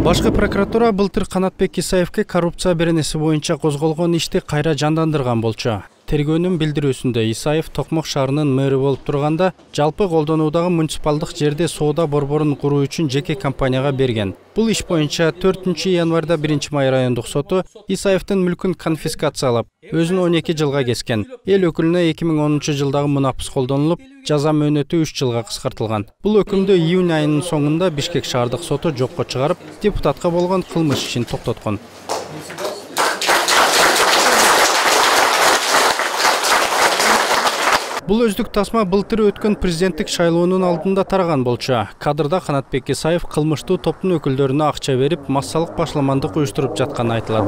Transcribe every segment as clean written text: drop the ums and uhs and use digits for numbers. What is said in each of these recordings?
Башкы прокуратура былтыр Канатбек Исаевке коррупция беренеси боюнча козголгон ишти кайра жандандырган болчу. Тергөөнүн билдирүүсүндө Исаев Токмок шаарынын мэрі болуп турганда жалпы колдонуудагы муниципалдык жерде соода борборун куруу үчүн жеке компанияга берген. Бул иш боюнча 4-январда 1-Май райондук соту Исаевдин мүлкүн конфискациялап, өзүн 12 жылга кескен. Эл өкүлүнө 2010-жылдагы мунапыс колдонулуп, жаза мөөнөтү 3 жылга кыскартылган. Бул өкүмдү июнь айынын соңунда Бишкек шаардык соту жокко чыгарып, депутатка болгон кылмыш ишин токтоткон. Бул өздүк тасма былтыр өткөн президенттик шайлоонун алдында тараган болчу. Кадрда Канатбек Исаев кылмыштуу топтун өкүлдөрүнө акча берип, массалык башламандык уюштуруп жатканы айтылат.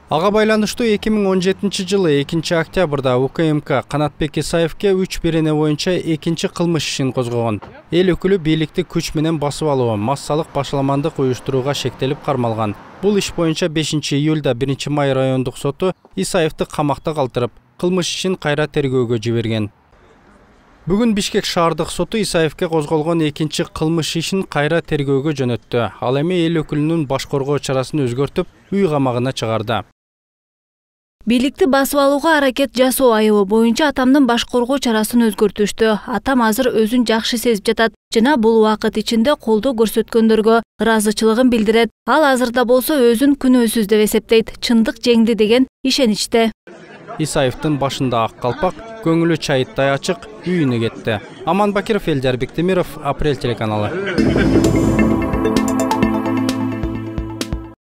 Ага байланыштуу 2017-жылы 2-октябрда УКМК Канатбек Исаевке 3 берене боюнча экинчи кылмыш ишин козгогон. Эл өкүлү бийликти күч менен басып алуу, массалык башламандык уюштурууга шектелип кармалган. Бул иш боюнча 5-июлда 1-Май райондук соту Исаевди камакта калтырып, кылмыш ишин кайра тергөөгө жиберген. Бүгүн Бишкек шаардык соту Исаевке козголгон экинчи кылмыш ишин кайра тергөөгө жөнөттү. Ал эми эл өкүлүнүн баш коргоо чарасын өзгөртүп, үй камагына чыгарды. Бийликти басып алууга аракет жасоо айыбы боюнча атамдын баш коргоо чарасын өзгөртүштү. Атам азыр өзүн жакшы сезип жатат жана бул убакыт ичинде колдоо көрсөткөндөргө ыраазычылыгын билдирет. Ал азырда болсо өзүн күнөөсүз деп эсептейт. Чындык жеңди деген ишеничте. Исаевдин башында ак калпак, көңүлү чайыттай ачык, үйүнө кетти. Аман Бакиров, Элдар Бектемиров, Апрель телеканалы.